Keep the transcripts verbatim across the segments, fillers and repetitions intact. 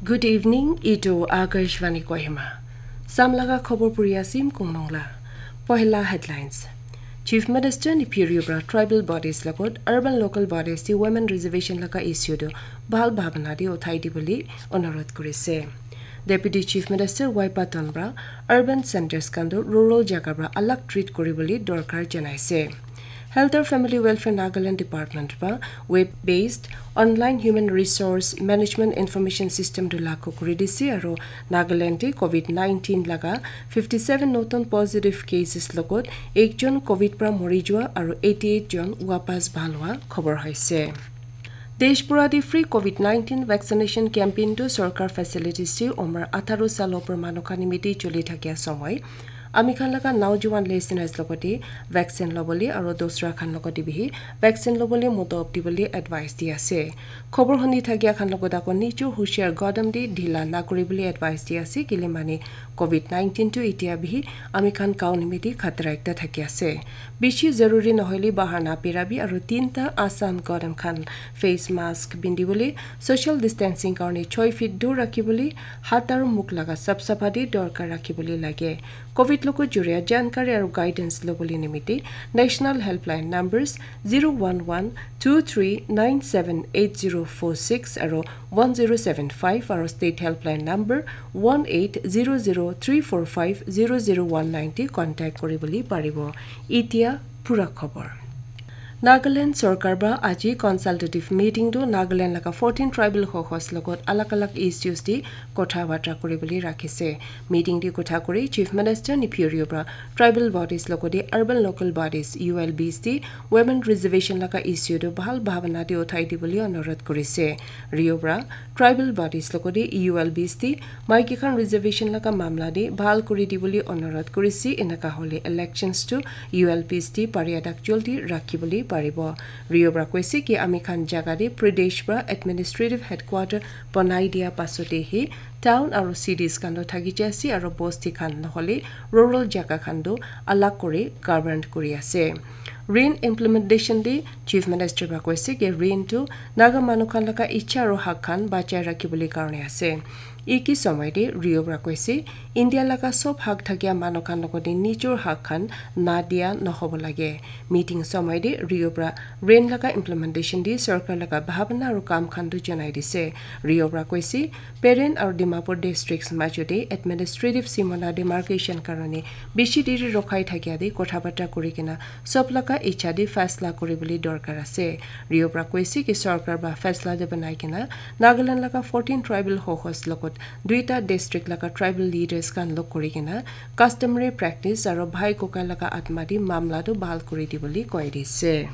Good evening, itu Akashvani Kohima. Samlaga khobor puri asim kungnong la. Pohila headlines. Chief Minister Neiphiu Rio pra tribal bodies lagot urban local bodies di women reservation laga issue tu bhal bhabna di uthai di boli onurodh kurise. Deputy Chief Minister Y Patton pra urban centers khan tu rural jaga pra alag treat kuri boli dorkar janaise. Health or Family Welfare Nagaland Department pra web based online human resource management information system tu lagu kuri dise aru Nagaland te covid nineteen laga fifty seven notun positive cases logot ekjon covid pra mori jua aru eighty eight jon wapas bhal hua khobor hoise. Desh pura te free covid nineteen vaccination campaign tu sorkar facilities te umar atharo sal opor manu khan nimite choli thakia somoi ami khan laga naujuwan listeners logote vaccine lobole aru dosra khan logote bihi vaccine lobole moto dibole advice di ase. Khobor huni thakia khan logot ako nichur hushiar godam di dhila na kuribole advice di ase kile mane covid nineteen tu itia bihi ami khan kau nimite khatra ekta thaki ase. Bishi zaruri nohoile bahar na pirabi aru tinta asan godam khan face mask bindibole social distancing karone choi feet dur rakhibole hat aru muk laga sap sapha di dorkar rakhibole lage. Covid logo juria jankari aru guidance lobole nimite national helpline numbers zero one one two three nine seven eight zero four six aru one zero seven five aru state helpline number one eight zero zero three four five zero zero one nine te contact kuri boli paribo. Itia pura khobor. Nagaland sorkar pra aji consultative meeting tu Nagaland laga fourteen tribal hohos logot alag alag issues di kotha batra kuri boli rakhise. Meeting di kotha kuri Chief Minister Neiphiu Rio pra tribal bodies logote urban local bodies U L Bs di women reservation laga issue tu bhal bhabna di uthai di boli onurodh kurise. Rio pra tribal bodies logote U L Bs di maiki khan reservation laga mamla de bhal kuri di boli onurodh kurise enaka hole elections tu U L Bs di pariya dak joldi rakhi boli paribo. Rio pra koise ki ami khan jaga de Pradesh pra administrative headquarter banai dia pasote hi town aru cities khan tu thaki jai ase aru bosti khan nohole rural jaga khan tu alag kuri govern kuri ase. Rain implementation de Chief Minister pra koise ki rain tu Naga manu khan laga icha aru hak khan bachai rakhi boli karone ase. Iki somoi de Rio pra koise India laga sob hak thakia manu khan logote nichur hak khan na dia nohobo lage. Meeting somoi de Rio pra rain laga implementation di sorkar laga bhabna aru kam khan tu janai dise. Rio pra koise Peren aru Dimapur districts majo de administrative simona demarcation karone bishi diri rokhai thakia de kotha batra kuri kena sob laga icha de faisla kuri boli dorkar ase. Rio pra koise ki sorkar ba faisla de banai kena Nagaland laga fourteen tribal hohos logot duita district laga tribal leaders khan log kuri kena customary practice aru bhai koka laga atma di mamla tu bhal kuri di boli koi dise.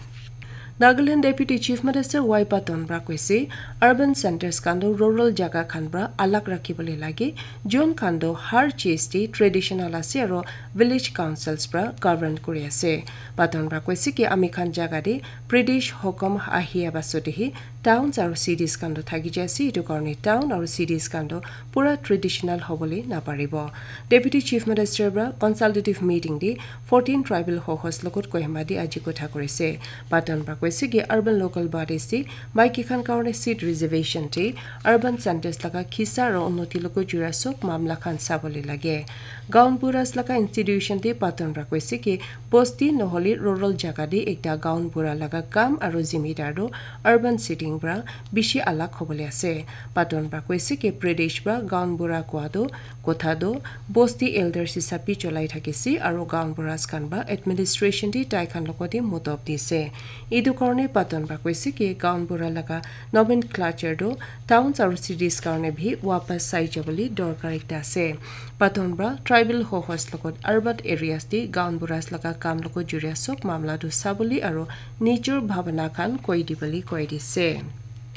Nagaland Deputy Chief Minister Y Patton pra koise urban centers khan tu rural jaga khan pra alag rakhi bole lage. Jun khan tu har cheez di traditional ase aru village councils pra govern kuri ase. Patton pra koise ki ami khan jaga de British hukum ahia pasote hi towns aru cities khan tu thaki jai ase, etu karone town aru cities khan tu pura traditional hobole naparibo. Deputy Chief Minister pra consultative meeting de fourteen tribal hohos logot Kohima de aji kotha kurise. Patton pra koise ki urban local bodies de maiki khan karone seat reservation de urban centers laga khisa aru unnoti logot jura sob mamla khan sabole lage. Gaon buras laga institution de Patton pra koise ki bosti nohole rural jaga de ekta gaon bura laga kam aru zimidar tu urban setting pra bishi alag hobole ase. Patton pra koise ki British pra gaon bura kua tu kotha tu bosti elders hisab bi cholai thakise aru gaon buras khan pra administration de tai khan logote motob dise. Etu karone Patton pra koise ki gaon bura laga nomenclature tu towns aru cities karone bi wapas sai jabole dorkar ekta ase. Patton pra tribal hohos logot urban areas de gaon buras laga kam logot juria sob mamla tu sabole aru nijor bhabana khan koi dibole koi dise.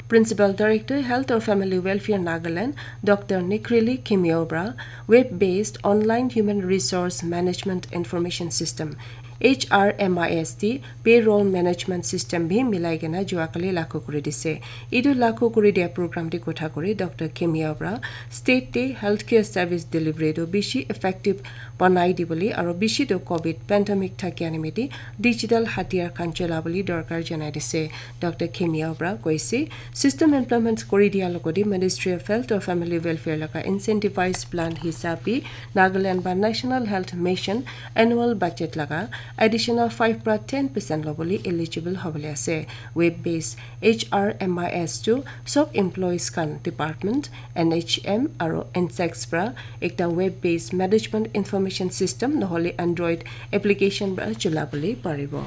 Principal Director Health or Family Welfare Nagaland Doctor Nikrili Kimio pra web based online human resource management information system H R M I S te payroll management system bi milai kena juakali lagu kuri dise. Etu lagu kuri dia program te kotha kuri Doctor Khemia para state te healthcare service delivery tu bishi effective banai dibole aro bishi tu covid pandemic thakia nimite digital hatiyar khan chola bole dorkar janai dise. Doctor Khemia para koise, system implement kuri dia logodi Ministry of Health or Family Welfare laga incentivized plan hisab bi Nagaland ba National Health Mission annual budget laga additional five pra ten percent lobole eligible hobole ase. Web based H R M I S tu sob employees khan department, N H M aro N S E C S pra ekta web based management information system nohole Android application pra chula bole paribo.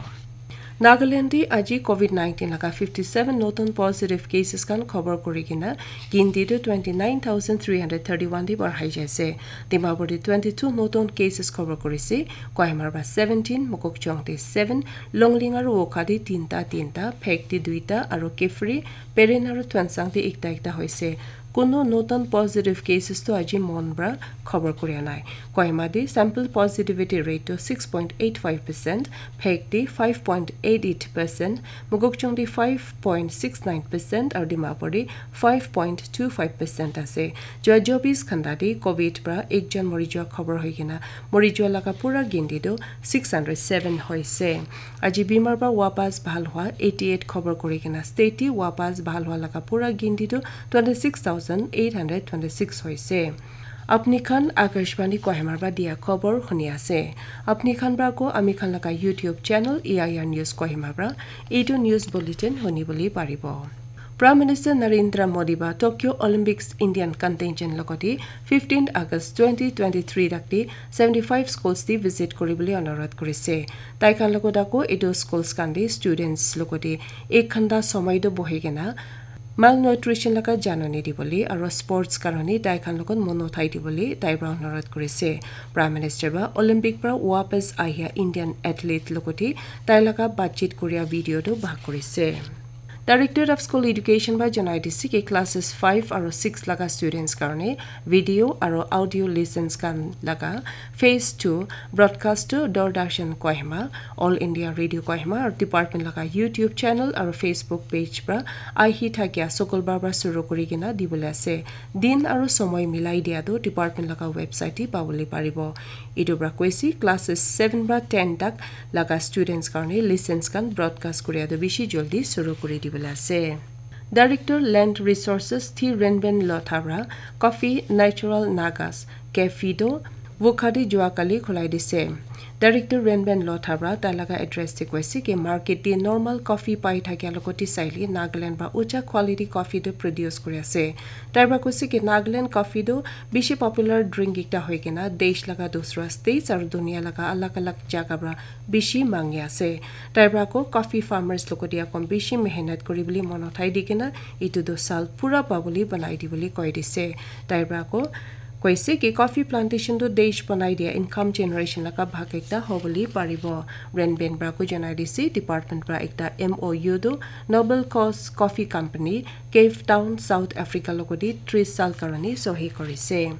Nagaland te aji covid nineteen laga fifty seven notun positive cases khan khobor kuri kena ginti tu twenty nine thousand three hundred thirty one te barhai jaise. Dimapur te twenty two notun cases khobor kurise, Kohima pra seventeen, Mokokchung te seven, Longleng aro Wokha te tinta tinta, Phek te duita aro Kiphire, Peren aro Tuensang te ekta ekta hoise. Kuno notun positive cases tu aji mon pra khobor kuria nai. Kohima te sample positivity rate tu six point eight five percent, Phek te five point eight eight percent, Mokokchung te five point six nine percent aro Dimapur te five point two five percent ase. Jua chobis ghanta te covid pra ekjon mori jua khobor hoi kena mori jua laga pura ginti tu six hundred seven hoise. Aji bimar pra wapas bhal hua eighty eight khobor kuri kena state te wapas bhal hua laga pura ginti tu twenty six thousand eight hundred twenty six hoise. Apni khan Akashvani Kohima pra dia khobor huni ase. Apni khan pra ko ami khan laga YouTube channel E I R News Kohima pra etu news bulletin huni bole paribo. Prime Minister Narendra Modi ba Tokyo Olympics Indian contingent logoti fifteen August twenty twenty three rakti seventy five schools te visit kuri bole onurodh kurise. Tai khan logot ako etu schools khan te students logoti ek ghanta somoi tu bohi kena malnutrition laga janani dibole aro sports karone tai khan logot mon uthai dibole tai pra onurodh kurise. Prime Minister ba Olympic pra wapas ahia Indian athlete logoti tai laga batchit kuria video tu bhag kurise. Directorate of School Education ba janai dise ki classes five aro six laga students karone video aro audio lessons khan laga phase two broadcast tu Doordarshan Kohima, All India Radio Kohima aro department laga YouTube channel aro Facebook page pra ahi thakia Sukulbar pra suru kuri kena dibole ase. Din aro somoi milai dia tu department laga website te pabole paribo. Etu pra koise classes seven pra ten tak laga students karone lessons khan broadcast kuria tu bishi joldi suru kuri dibole ase. Director Land Resources Thi Renben Lotha pra Coffee Natural Nagas Cafe tu Wokha te jua kali khulai dise. Director Renben Lotha pra tai laga address te koise ki market te normal coffee pai thakia logoti saile Nagaland pra ucha quality coffee tu produce kuri ase. Tai pra koise ki Nagaland coffee tu bishi popular drink ekta hoi kena desh laga dusra states aro dunia laga alag alag jaga pra bishi mangi ase. Tai pra ko coffee farmers logoti akon bishi mehnat kuri bole mon uthai di kena etu tu sal pura pabole banai dibole koi dise. Tai pra ko koise ki coffee plantation tu desh banai dia income generation laga bhag ekta hobole paribo. Renben pra ko janai dise department pra ekta M O U tu Noble Cause Coffee Company, Cape Town, South Africa logoti tris sal karone sohi kurise.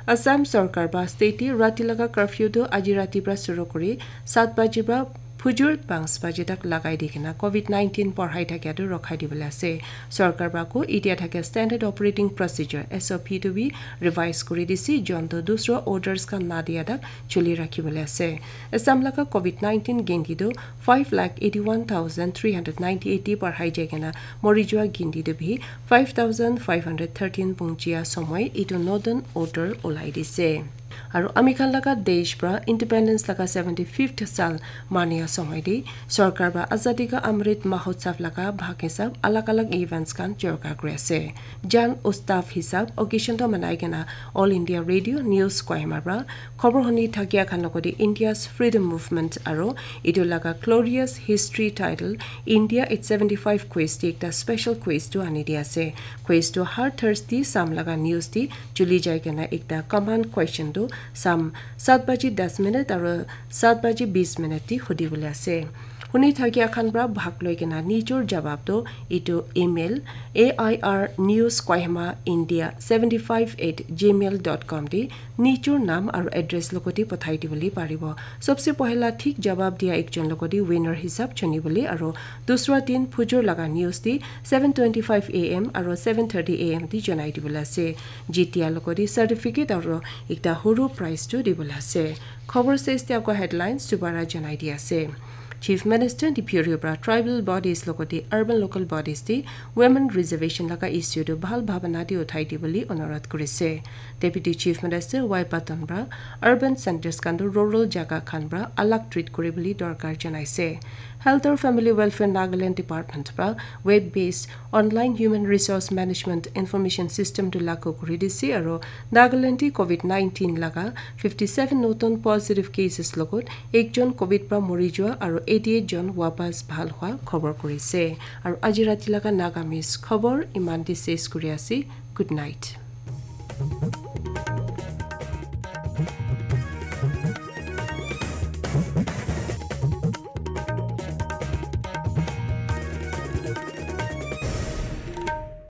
Assam sorkar pra state te rati laga curfew tu aji rati pra suru kuri sat baji pra phujur panch baji tak lagai di kena covid nineteen porhai thakia tu rokhai dibole ase. Sorkar pra ko etia thakia standard operating procedure S O P tu bi revise kuri dise, jon tu dusra orders khan na dia tak chuli rakhi bole ase. Assam laga covid nineteen ginti tu five lakh eighty one thousand three hundred ninety eight te barhai jai kena mori jua ginti tu bi five thousand five hundred thirteen pungjia somoi etu notun order ulai dise. Aro ami khan laga desh pra independence laga seventy fifth sal mania somoi te sorkar pra Azadi Ka Amrit Mahotsav laga bhag hisab alag alag events khan chorka kuri ase. Jan Utsav hisab occasion to manai kena All India Radio News Kohima pra khobor huni thakia khan logoti India's freedom movement aro etu laga glorious history title India eight seventy five quiz te ekta special quiz tu ani di ase. Quiz tu har Thursday sam laga news te chuli jai kena ekta common question tu sam sat baji das minute aro sat baji bis minute te hudi bole ase. Huni thakia khan pra bhag loi kena nijor jawab to itu email A I R news Kohima India seventy five at gmail dot com te nijor nam aru address logoti pathai dibole paribo. Sobse pohela thik jawab dia ekjon logoti winner hisab chunibole aru dusra din phujur laga news te seven twenty five A M aru seven thirty A M te janai dibole ase. Jitia logoti certificate aru ekta huru prize tu dibole ase. Khobor ses te ako headlines dubara janai di ase. Chief Minister Neiphiu Rio pra tribal bodies logoti urban local bodies te women reservation laga issue tu bhal bhabana te uthai dibole onurodh kurise. Deputy Chief Minister Y Patton pra urban centers khan tu rural jaga khan pra alag treat kuribole dorkar janaise. Health aru Family Welfare Nagaland Department pra web based online human resource management information system tu lagu kuri dise aru Nagaland te covid nineteen laga fifty seven notun positive cases logot ekjon covid pra mori jua aru eighty eight jon wapas bhal hua khobor kurise. Aru aji rati laga Nagamese khobor iman te ses kuri ase. Good night.